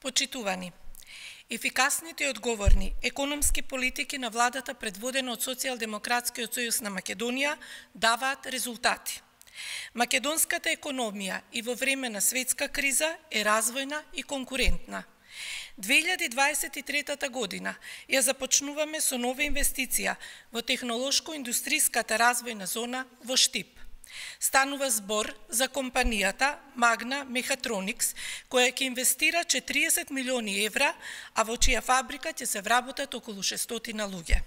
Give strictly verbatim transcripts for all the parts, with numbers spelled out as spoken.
Почитувани, ефикасните и одговорни економски политики на владата предводена од Социјалдемократскиот сојуз на Македонија даваат резултати. Македонската економија и во време на светска криза е развојна и конкурентна. две илјади дваесет и трета година ја започнуваме со нова инвестиција во технолошко-индустријската развојна зона во Штип. Станува збор за компанијата Магна Мехатроникс, која ќе инвестира четириесет милиони евра, а во чија фабрика ќе се вработат околу шестстотина луѓе.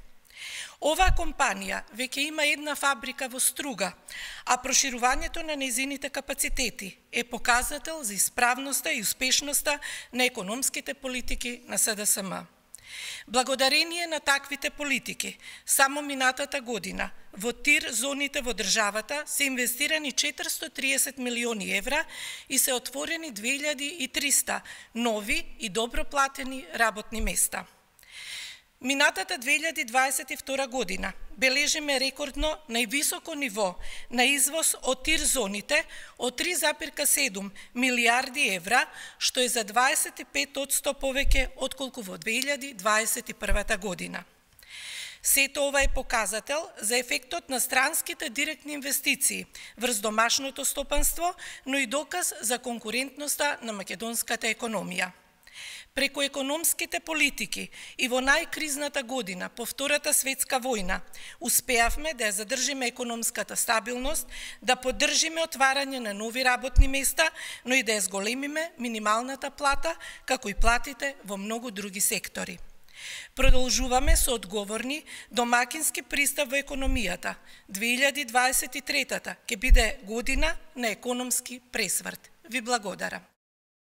Оваа компанија веќе има една фабрика во Струга, а проширувањето на нејзините капацитети е показател за исправноста и успешноста на економските политики на С Д С М. Благодарение на таквите политики, само минатата година во ТИР зоните во државата се инвестирани четиристотини и триесет милиони евра и се отворени две илјади и триста нови и добро платени работни места. Минатата две илјади дваесет и втора година бележиме рекордно највисоко ниво на извоз од ТИР зоните од три запирка седум милијарди евра, што е за дваесет и пет одсто повеќе отколку во две илјади дваесет и прва година. Сето ова е показател за ефектот на странските директни инвестиции врз домашното стопанство, но и доказ за конкурентноста на македонската економија. Преку економските политики и во најкризната година по Втората светска војна успеавме да ја задржиме економската стабилност, да поддржиме отварање на нови работни места, но и да ја зголемиме минималната плата, како и платите во многу други сектори. Продолжуваме со одговорни домакински пристап во економијата. две илјади дваесет и трета ќе биде година на економски пресврт. Ви благодарам.